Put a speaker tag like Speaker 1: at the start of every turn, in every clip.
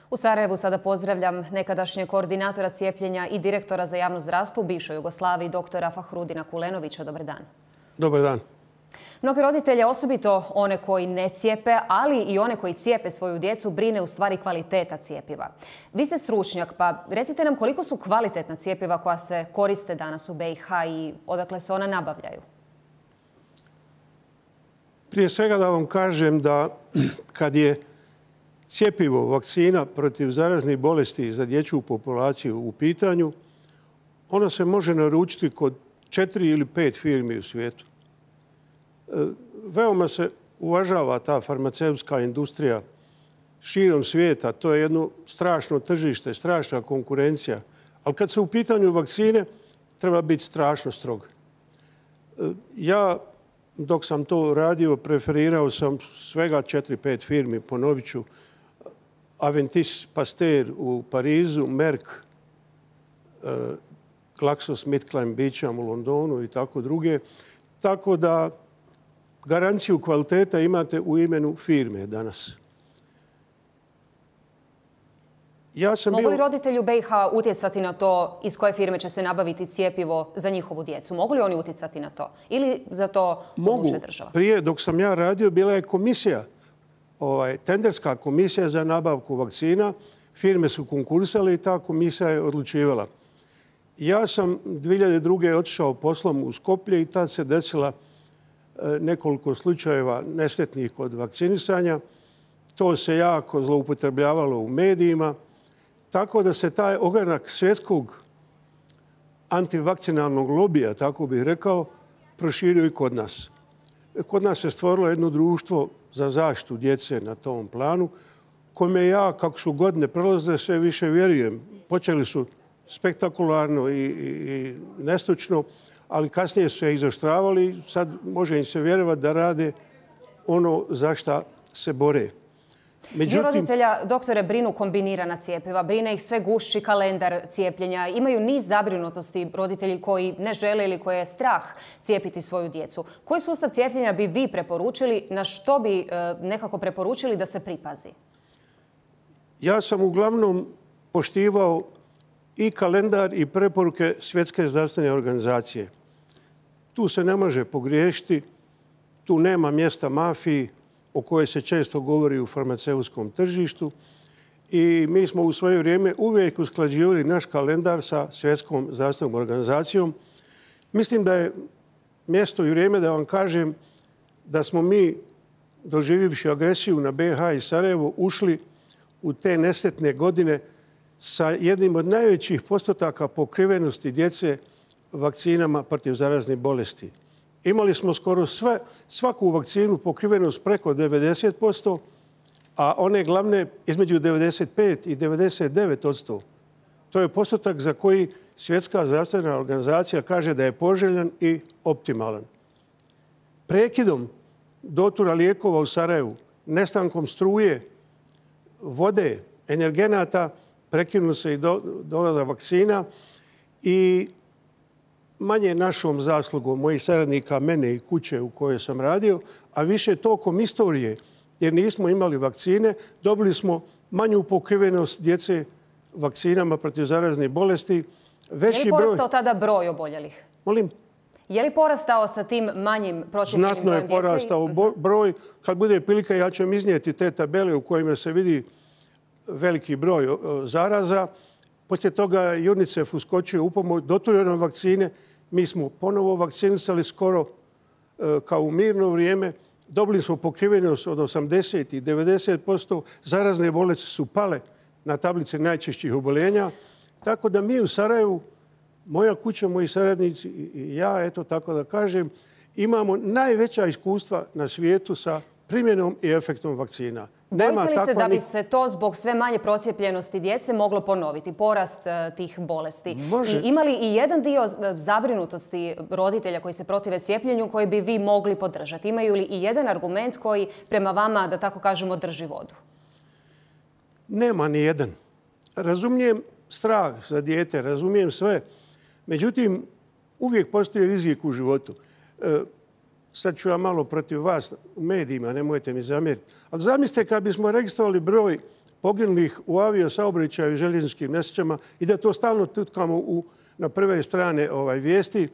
Speaker 1: U Sarajevu sada pozdravljam nekadašnjeg koordinatora cijepljenja i direktora za javno zdravstvo u bivšoj Jugoslaviji, doktora Fahrudina Kulenovića. Dobar dan.
Speaker 2: Dobar dan.
Speaker 1: Mnogi roditelje, osobito one koji ne cijepe, ali i one koji cijepe svoju djecu, brine u stvari kvaliteta cijepiva. Vi ste stručnjak, pa recite nam koliko su kvalitetna cijepiva koja se koriste danas u BiH i odakle se ona nabavljaju?
Speaker 2: Prije svega da vam kažem da kad je cijepivo, vakcina protiv zaraznih bolesti za dječju populaciju u pitanju, ono se može naručiti kod 4 ili 5 firmi u svijetu. Veoma se uvažava ta farmaceutska industrija širom svijeta. To je jedno strašno tržište, strašna konkurencija. Ali kad se u pitanju vakcine, treba biti strašno strog. Ja, dok sam to radio, preferirao sam svega 4-5 firmi, ponovit ću. Aventis Pasteur u Parizu, Merck, GlaxoSmithKline Beecham u Londonu i tako druge. Tako da garanciju kvaliteta imate u imenu firme danas.
Speaker 1: Mogu li roditelji u BiH utjecati na to iz koje firme će se nabaviti cijepivo za njihovu djecu? Mogu li oni utjecati na to? Ili za to odlučuje država?
Speaker 2: Mogu. Prije, dok sam ja radio, bila je komisija, tenderska komisija za nabavku vakcina. Firme su konkursale i ta komisija je odlučivala. Ja sam 2002. otišao poslom u Skoplje i tad se desila nekoliko slučajeva nesretnih kod vakcinisanja. To se jako zloupotrebljavalo u medijima. Tako da se taj ogranak svjetskog antivakcinalnog lobija, tako bih rekao, proširio i kod nas. Kod nas se stvorilo jedno društvo za zaštitu djece na tom planu, kome ja, kako su godine prolazile, sve više vjerujem. Počeli su spektakularno i nestručno, ali kasnije su se izoštravali. Sad može im se vjerovati da rade ono za šta se bore.
Speaker 1: Dio roditelja, doktore, brinu kombinirana cijepiva, brine ih sve gušći kalendar cijepljenja. Imaju niz zabrinutosti roditelji koji ne žele ili koje je strah cijepiti svoju djecu. Koji sustav cijepljenja bi vi preporučili, na što bi nekako preporučili da se pripazi?
Speaker 2: Ja sam uglavnom poštivao i kalendar i preporuke Svjetske zdravstvene organizacije. Tu se ne može pogriješiti, tu nema mjesta mafiji o kojoj se često govori u farmaceutskom tržištu. I mi smo u svoje vrijeme uvijek usklađivali naš kalendar sa Svjetskom zdravstvenom organizacijom. Mislim da je mjesto i vrijeme da vam kažem da smo mi, doživivši agresiju na BiH i Sarajevo, ušli u te nesretne godine sa jednim od najvećih postotaka pokrivenosti djece vakcinama protiv zaraznih bolesti. Imali smo skoro svaku vakcinu pokrivenost preko 90%, a one glavne između 95 i 99%. To je postotak za koji Svjetska zdravstvena organizacija kaže da je poželjan i optimalan. Prekidom dotura lijekova u Sarajevu, nestankom struje, vode, energenata, prekinuo se i dolazak vakcina i manje našom zaslugom mojih saradnika, mene i kuće u kojoj sam radio, a više tokom istorije, jer nismo imali vakcine, dobili smo manju pokrivenost djece vakcinama protiv zaraznih bolesti.
Speaker 1: Je li porastao tada broj oboljelih?
Speaker 2: Molim?
Speaker 1: Je li porastao sa tim manjim procijepljenim
Speaker 2: Znatno je porastao broj. Kad bude prilika, ja ću vam iznijeti te tabele u kojima se vidi veliki broj zaraza. Poslije toga UNICEF uskočio u pomoć doturenom vakcine. Mi smo ponovo vakcinisali skoro kao u mirno vrijeme. Dobili smo pokrivenost od 80 i 90%. Zarazne bolesti su pale na tablice najčešćih oboljenja. Tako da mi u Sarajevu, moja kuća, moji saradnici i ja, eto tako da kažem, imamo najveća iskustva na svijetu sa primjenom i efektom vakcina.
Speaker 1: Bojite li se da bi se to zbog sve manje procijepljenosti djece moglo ponoviti, porast tih bolesti?
Speaker 2: Može.
Speaker 1: I ima li i jedan dio zabrinutosti roditelja koji se protive cijepljenju koji bi vi mogli podržati? Imaju li i jedan argument koji prema vama, da tako kažemo, drži vodu?
Speaker 2: Nema ni jedan. Razumijem strah za dijete, razumijem sve. Međutim, uvijek postoji rizik u životu. Sad ću ja malo protiv vas u medijima, nemojte mi zamjeriti. Ali zamislite kad bismo registrovali broj poginulih u aviosaobraćaju i željezničkim nesrećama i da to stalno tutkamo na prve strane vijesti.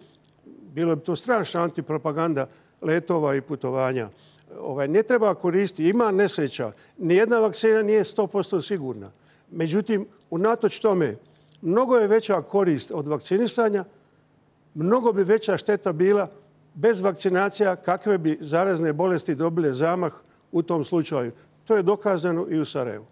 Speaker 2: Bilo bi to strašna antipropaganda letova i putovanja. Ne treba koristiti, ima nesreća. Nijedna vakcina nije 100% sigurna. Međutim, unatoč tome, mnogo je veća korist od vakcinisanja, mnogo bi veća šteta bila bez vakcinacija kakve bi zarazne bolesti dobile zamah u tom slučaju. To je dokazano i u Sarajevu.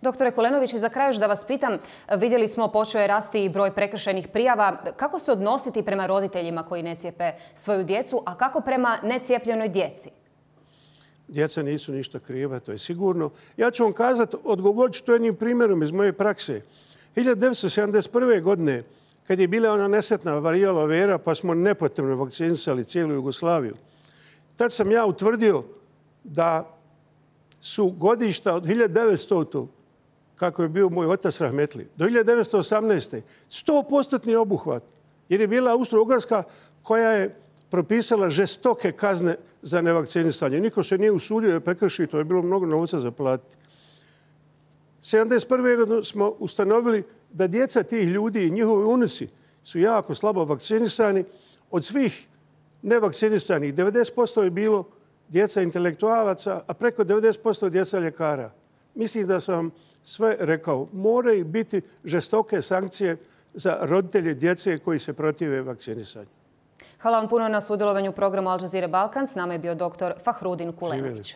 Speaker 1: Doktore Kulenović, za kraj još da vas pitam, vidjeli smo počeo je rasti i broj prekršajnih prijava. Kako se odnositi prema roditeljima koji ne cijepe svoju djecu, a kako prema necijepljenoj djeci?
Speaker 2: Djeca nisu ništa kriva, to je sigurno. Ja ću vam kazati, odgovorit ću to jednim primjerom iz moje prakse. 1971. godine, kad je bila ona nesretna varijala vera, pa smo nepotrebno vakcinisali cijelu Jugoslaviju, tad sam ja utvrdio da su godišta od 1900. kako je bio moj otac rahmetli, do 1918. 100% obuhvat. Jer je bila Austro-Ugarska koja je propisala žestoke kazne za nevakcinisanje. Niko se nije usudio da prekrši, to je bilo mnogo novca za platiti. 1971. godine smo ustanovili da djeca tih ljudi i njihovi unuci su jako slabo vakcinisani. Od svih nevakcinisanih 90% je bilo djeca intelektualaca, a preko 90% djeca ljekara. Mislim da sam sve rekao. Moraju biti žestoke sankcije za roditelje djece koji se protive vakcinisanju.
Speaker 1: Hvala vam puno na sudjelovanju u programu Al Jazeera Balkan. S nama je bio dr. Fahrudin Kulenović.